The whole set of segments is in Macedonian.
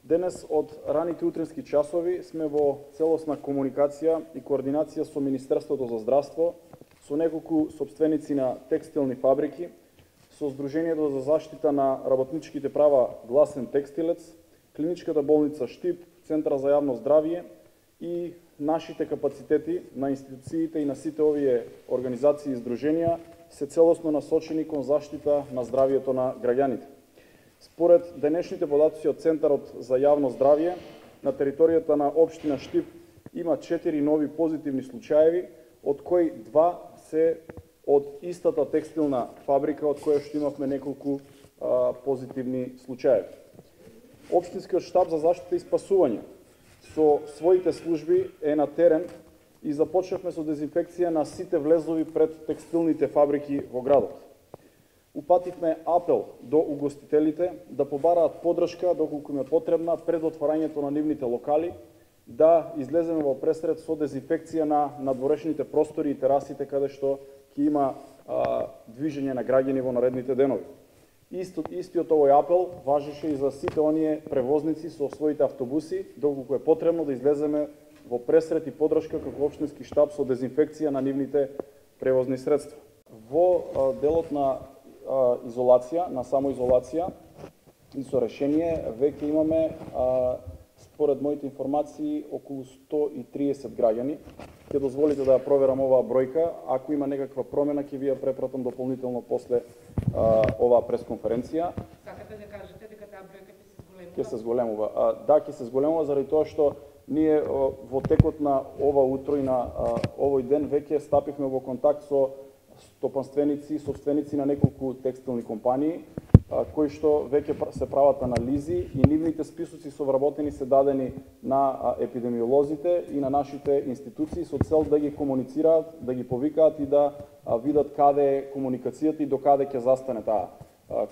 Денес од раните утрински часови сме во целосна комуникација и координација со Министерството за здравство, со неколку сопственици на текстилни фабрики, со Сдруженијето за заштита на работничките права Гласен текстилец, Клиничката болница Штип, Центар за јавно здравје и нашите капацитети на институциите и на сите овие организации и здруженија се целосно насочени кон заштита на здравјето на граѓаните. Според денешните податоци од Центарот за јавно здравје, на територијата на општина Штип има 4 нови позитивни случаеви, од кои 2 се од истата текстилна фабрика, од која што имавме неколку позитивни случаеви. Општинскиот штаб за заштита и спасување со своите служби е на терен и започнавме со дезинфекција на сите влезови пред текстилните фабрики во градот. Упативме апел до угостителите да побараат поддршка доколку им е потребна пред отварањето на нивните локали, да излеземе во пресред со дезинфекција на надворешните простори и терасите каде што ќе има движење на граѓани во наредните денови. Истиот овој апел важеше и за сите оние превозници со своите автобуси, доколку е потребно да излеземе во пресред и поддршка како општински штаб со дезинфекција на нивните превозни средства. Во делот на изолација, на самоизолација и со решение веќе имаме според моите информации околу 130 граѓани. Ќе дозволите да ја проверам оваа бројка, ако има некаква промена ќе ви ја препратам дополнително после оваа пресконференција. Сакате да кажете дека таа бројка ќе се зголемува? Ќе се зголемува. Да, ќе се зголемува заради тоа што ние во текот на ова утро и на овој ден веќе стапивме во контакт со стопанственици и сопственици на неколку текстилни компании, кои што веќе се прават анализи и нивните списоци со вработени се дадени на епидемиолозите и на нашите институции со цел да ги комуницираат, да ги повикаат и да видат каде е комуникацијата и до каде ќе застане таа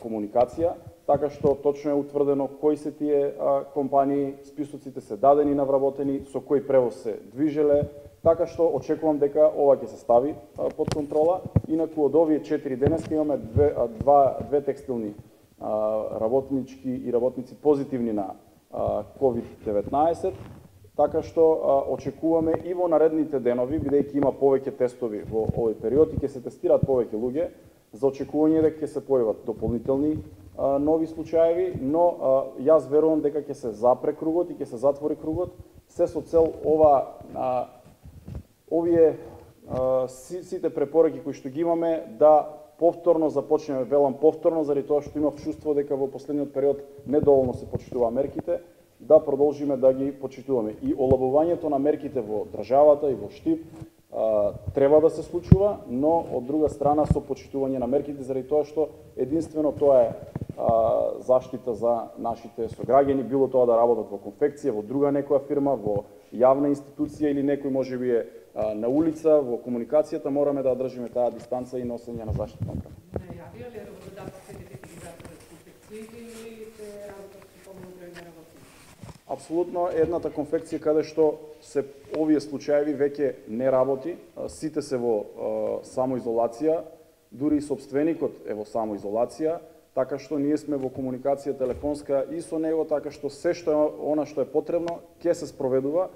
комуникација, така што точно е утврдено кои се тие компании, списоците се дадени на вработени, со кој превоз се движеле, така што очекувам дека ова ќе се стави под контрола. Инаку од овие 4 денеска имаме две текстилни работнички и работници позитивни на COVID-19, така што очекуваме и во наредните денови, бидејќи има повеќе тестови во овој период и ќе се тестираат повеќе луѓе, за очекување дека ќе се појават дополнителни нови случаеви, но јас верувам дека ќе се запре кругот и ќе се затвори кругот, се со цел овие сите препораки кои што ги имаме да повторно започнеме, велам повторно, заради тоа што имав чувство дека во последниот период недоволно се почитуваа мерките, да продолжиме да ги почитуваме. И олабувањето на мерките во државата и во Штип треба да се случува, но од друга страна со почитување на мерките, заради тоа што единствено тоа е заштита за нашите сограѓани, било тоа да работат во конфекција, во друга некоја фирма, во јавна институција или некој можеби е на улица, во комуникацијата, мораме да држиме таа дистанца и носење на заштитна оправа. Најавија ли работодавците дека ќе ги затворат конфекциите или ќе работат со помалку број на работници? Апсолутно едната конфекција каде што се овие случаеви веќе не работи, сите се во самоизолација, дури и сопственикот е во самоизолација, така што ние сме во комуникација телефонска и со него, така што се што е она што е потребно ќе се спроведува.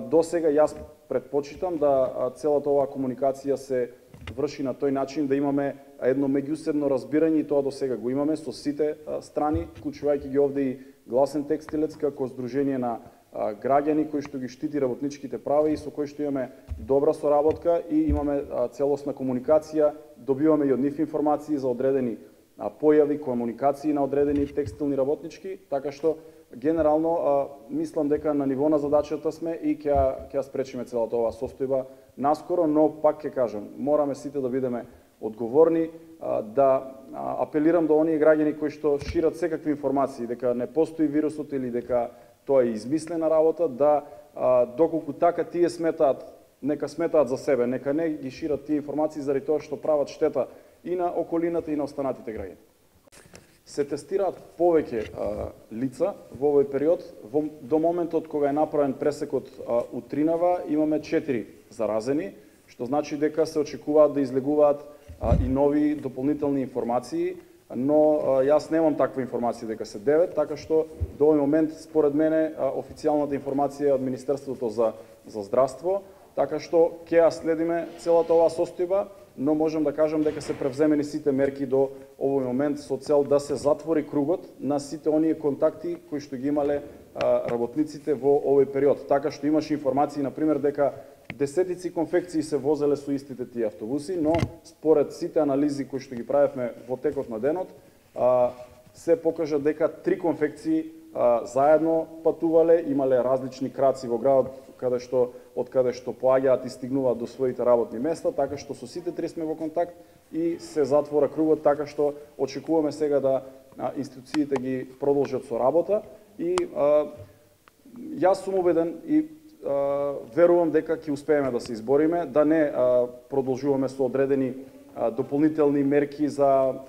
До сега јас предпочитам да целата оваа комуникација се врши на тој начин да имаме едно меѓусебно разбирање и тоа до сега го имаме со сите страни, вклучувајќи ги овде и Гласен текстилец како здружение на граѓани кои што ги штити работничките права и со кои што имаме добра соработка и имаме целосна комуникација, добиваме и од нив информации за одредени појави, комуникации на одредени текстилни работнички, така што генерално мислам дека на ниво на задачата сме и ќе спречиме целата оваа состојба наскоро, но пак ќе кажам, мораме сите да бидеме одговорни, да апелирам до оние граѓани кои што шират секакви информации дека не постои вирусот или дека тоа е измислена работа, да доколку така тие сметаат, нека сметаат за себе, нека не ги шират тие информации заради тоа што прават штета и на околината и на останатите граѓани. Се тестираат повеќе лица во овој период. До моментот кога е направен пресекот утринава имаме 4 заразени, што значи дека се очекуваат да излегуваат и нови дополнителни информации. но јас немам таква информација дека се 9, така што до овој момент според мене официјалната информација од Министерството за здравство, така што ќе ја следиме целата оваа состојба, но можам да кажам дека се превземени сите мерки до овој момент со цел да се затвори кругот на сите оние контакти кои што ги имале работниците во овој период. Така што имаше информации, например, дека десетици конфекции се возеле со истите тие автобуси, но според сите анализи кои што ги правевме во текот на денот, се покажа дека 3 конфекции заедно патувале, имале различни краци во градот од каде што поаѓаат и стигнуваат до своите работни места, така што со сите 3 сме во контакт и се затвора кругот, така што очекуваме сега да институциите ги продолжат со работа и јас сум убеден и верувам дека ќе успееме да се избориме, да не продолжуваме со одредени дополнителни мерки за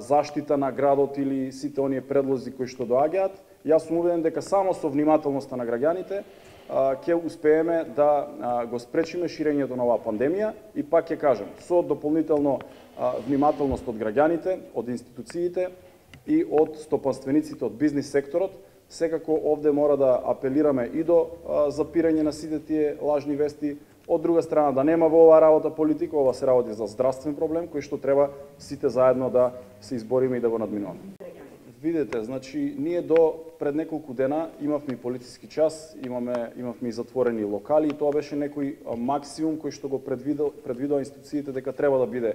заштита на градот или сите оние предлози кои што доаѓаат. Јас сум убеден дека само со внимателноста на граѓаните ќе успееме да го спречиме ширењето на оваа пандемија и пак ќе кажам, со дополнително внимателност од граѓаните, од институциите и од стопанствениците, од бизнис секторот, секако овде мора да апелираме и до запирање на сите тие лажни вести, од друга страна да нема во оваа работа политика, ова се работи за здравствен проблем кој што треба сите заедно да се избориме и да го надминуваме. Видете, значи ние до пред неколку дена имавме и полициски час, имавме и затворени локали и тоа беше некој максимум кој што го предвидува институциите дека треба да биде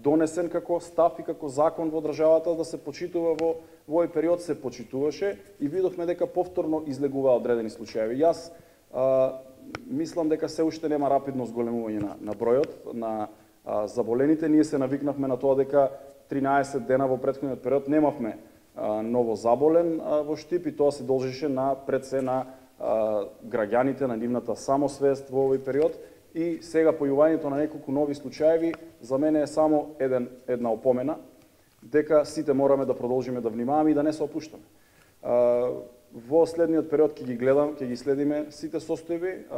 донесен како став и како закон во државата, да се почитува во овој период, се почитуваше и видовме дека повторно излегуваа одредени случаи. Јас мислам дека се уште нема рапидно зголемување на бројот на заболените. Ние се навикнавме на тоа дека 13 дена во претходниот период немавме ново заболен во Штип и тоа се должеше на пред се на граѓаните, на нивната самосвест во овој период. И сега појавувањето на неколку нови случаи за мене е само една опомена дека сите мораме да продолжиме да внимаваме и да не се опуштаме. Во следниот период ќе ги следиме сите состојби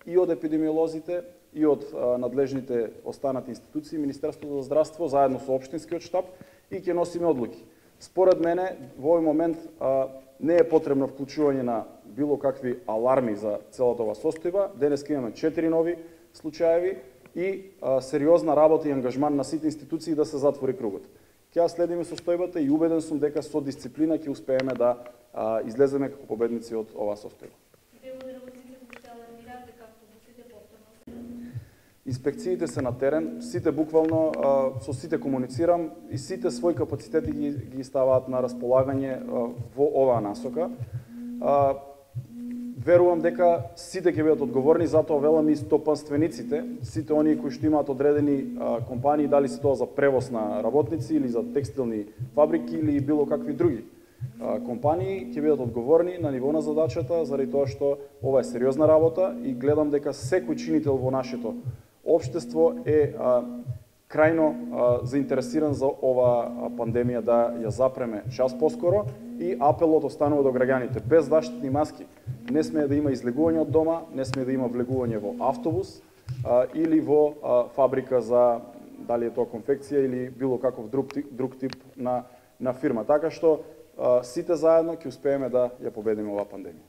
и од епидемиолозите и од надлежните останати институции, Министерството за здравство заедно со општинскиот штаб и ќе носиме одлуки. Според мене во овој момент не е потребно вклучување на било какви аларми за целата оваа состојба. Денеска имаме 4 нови случаи и сериозна работа и ангажман на сите институции да се затвори кругот. Ќе ја следиме состојбата и убеден сум дека со дисциплина ќе успееме да излеземе како победници од оваа состојба. Инспекциите се на терен, сите буквално со сите комуницирам и сите своји капацитети ги ставаат на располагање во оваа насока. Верувам дека сите ќе бидат одговорни, затоа велам и стопанствениците, сите оние кои што имаат одредени компании, дали се тоа за превоз на работници или за текстилни фабрики или било какви други компании, ќе бидат одговорни на ниво на задачата, заради тоа што ова е сериозна работа и гледам дека секој чинител во нашето општество е крајно заинтересиран за оваа пандемија да ја запреме час поскоро и апелот останува до граѓаните. Без заштитни маски не смее да има излегување од дома, не смее да има влегување во автобус или во фабрика за дали е тоа конфекција или било каков друг тип на фирма. Така што сите заедно ќе успееме да ја победиме оваа пандемија.